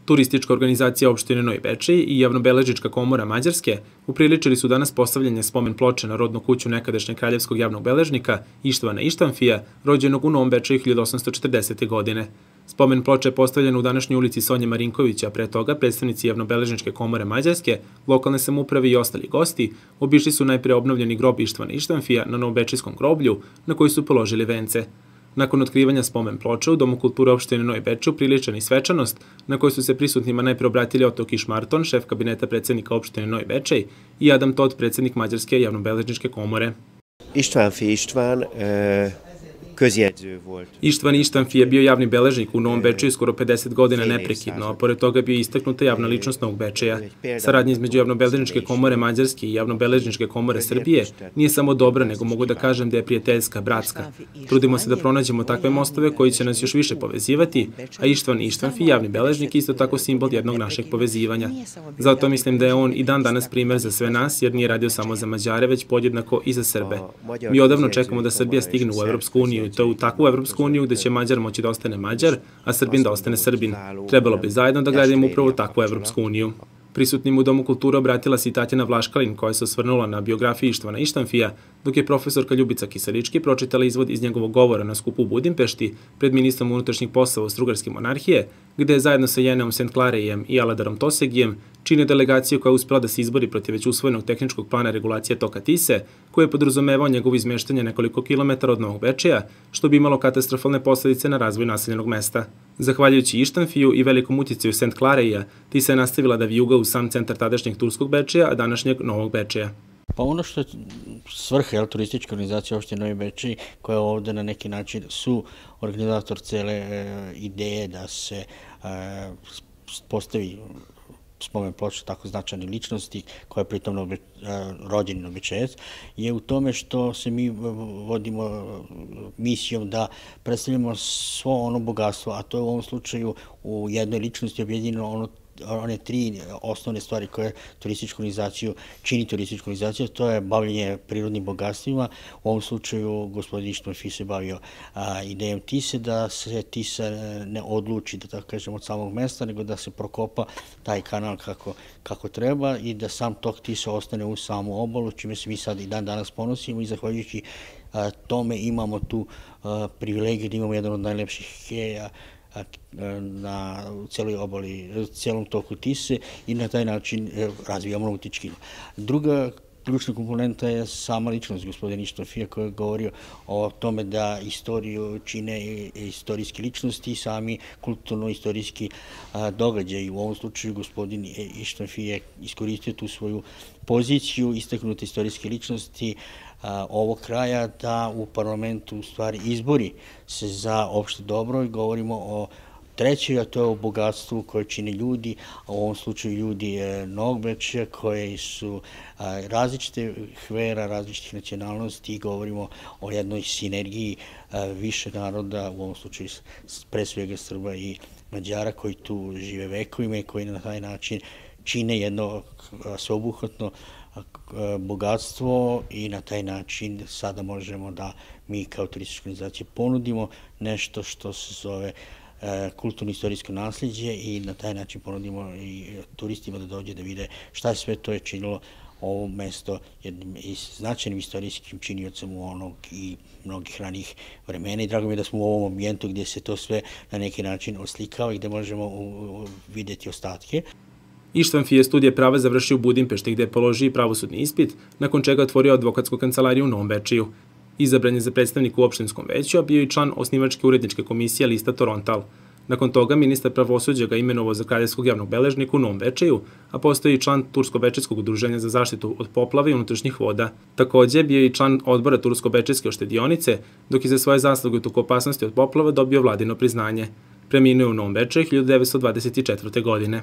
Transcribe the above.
Turistička organizacija opštine Novi Bečej i Javnobeležnička komora Mađarske upriličili su danas postavljanje spomen ploče na rodnu kuću nekadašnjeg kraljevskog javnog beležnika Ištvana Ištanfija, rođenog u Novom Bečeju 1840. godine. Spomen ploča je postavljena u današnjoj ulici Sonje Marinkovića, a pre toga predstavnici Javnobeležničke komore Mađarske, lokalne samouprave i ostali gosti obišli su najpre obnovljeni grob Ištvana Ištanfija na Novobečejskom groblju, na koji su položili vence. Nakon otkrivanja spomen ploča u Domu kulture opštine Novi Bečej upriličena i svečanost, na kojoj su se prisutnima najpre obratili Oto Kišmarton, šef kabineta predsednika opštine Novi Bečej, i Adam Tot, predsednik Mađarske javnobeležničke komore. Ištvan Ištanfi je bio javni beležnik u Novom Bečeju skoro 50 godina neprekidno, a pored toga bio istaknuta javna ličnost Novog Bečeja. Saradnja između Javnobeležničke komore Mađarske i Javnobeležničke komore Srbije nije samo dobra, nego mogu da kažem da je prijateljska, bratska. Trudimo se da pronađemo takve mostove koji će nas još više povezivati, a Ištvan Ištanfi, javni beležnik, isto tako simbol jednog našeg povezivanja. Zato mislim da je on i dan danas primer za sve nas, jer nije radio samo za Mađare, već podjednako i za Srbe. Mi odavno čekamo da Srbija stigne u Evropsku uniju, i to u takvu Evropsku uniju gde će Mađar moći da ostane Mađar, a Srbin da ostane Srbin. Trebalo bi zajedno da gradimo upravo takvu Evropsku uniju. Prisutnim u Domu kulture obratila se i Tatjana Vlaškalin, koja se osvrnula na biografiju Ištvana Ištanfija, dok je profesorka Ljubica Kiselički pročitala izvod iz njegovog govora na skupu u Budimpešti pred ministrom unutrašnjih poslova Austrougarske monarhije, gde je zajedno sa Jeneom St. Clarejem i Aladarom Tosegijem čine delegaciju koja je uspela da se izbori protiv već usvojenog tehničkog plana regulacije toka Tise, koji je podrazumevao njegovo izmeštanje nekoliko kilometara od Novog Bečeja, što bi imalo katastrofalne posledice na razvoj naseljenog mesta. Zahvaljujući Ištanfiju i velikom uticaju St. Clareja, Tisa je nastavila da vijuga u sam centar tadašnjeg Turskog Bečeja, a današnjeg Novog Bečeja. Pa ono što je svrha turističke organizacije opštine Novi Bečej, koja je ovde na neki način su organizator cele ideje da se postavi spomen ploča tako značajne ličnosti, koja je pritom rođeni Novobečejac, je u tome što se mi vodimo misijom da predstavljamo svo ono bogatstvo, a to je u ovom slučaju u jednoj ličnosti objedinjeno one tri osnovne stvari koje čini turističku organizaciju, to je bavljenje prirodnim bogatstvima. U ovom slučaju gospodin Ištanfi se bavio idejom Tise, da se Tisa ne odluči, da tako kažem, od samog mesta, nego da se prokopa taj kanal kako treba i da sam tok Tisa ostane u samu obalu, čime se mi sad i dan danas ponosimo i zahvaljujući tome imamo tu privilegiju da imamo jedan od najlepših keja u celoj obali, u celom toku Tise i na taj način razvijamo nautički. Druga ključna komponenta je sama ličnost gospodina Ištanfija, koja je govorio o tome da istoriju čine istorijske ličnosti i sami kulturno-istorijski događaj. U ovom slučaju gospodin Ištanfi je iskoristio tu svoju poziciju istaknute istorijske ličnosti ovog kraja da u parlamentu u stvari izbori se za opšte dobro i govorimo o trećoj, a to je o bogatstvu koje čine ljudi, a u ovom slučaju ljudi Novog Bečeja koji su različite vera, različitih nacionalnosti i govorimo o jednoj sinergiji više naroda, u ovom slučaju pre svega Srba i Mađara koji tu žive vekovima i koji na taj način čine jedno sveobuhvatno bogatstvo i na taj način sada možemo da mi kao turistička organizacija ponudimo nešto što se zove kulturno-istorijsko nasljeđe i na taj način ponudimo i turistima da dođe da vide šta je sve to je činilo ovo mesto jednim značajnim istorijskim činiocem u onog i mnogih ranijih vremena i drago mi je da smo u ovom ambijentu gdje se to sve na neki način oslikava i gdje možemo vidjeti ostatke. Ištanfi je studije prava završio u Budimpešti gde je položio i pravosudni ispit, nakon čega otvorio advokatsku kancelariju u Novom Bečeju. Izabran je za predstavnika u opštinskom veću, a bio i član osnivačke uredničke komisije lista Torontal. Nakon toga ministar pravosuđa ga imenovao za kraljevskog javnog beležnika u Novom Bečeju, a postoji i član Tursko-bečejskog udruženja za zaštitu od poplava i unutrašnjih voda. Takođe, bio je i član odbora Tursko-bečejske oštedionice, dok je za svoje zasluge u toku opasnosti od poplava dobio vladino priznanje. Preminuo je u Novom Bečeju 1924. godine.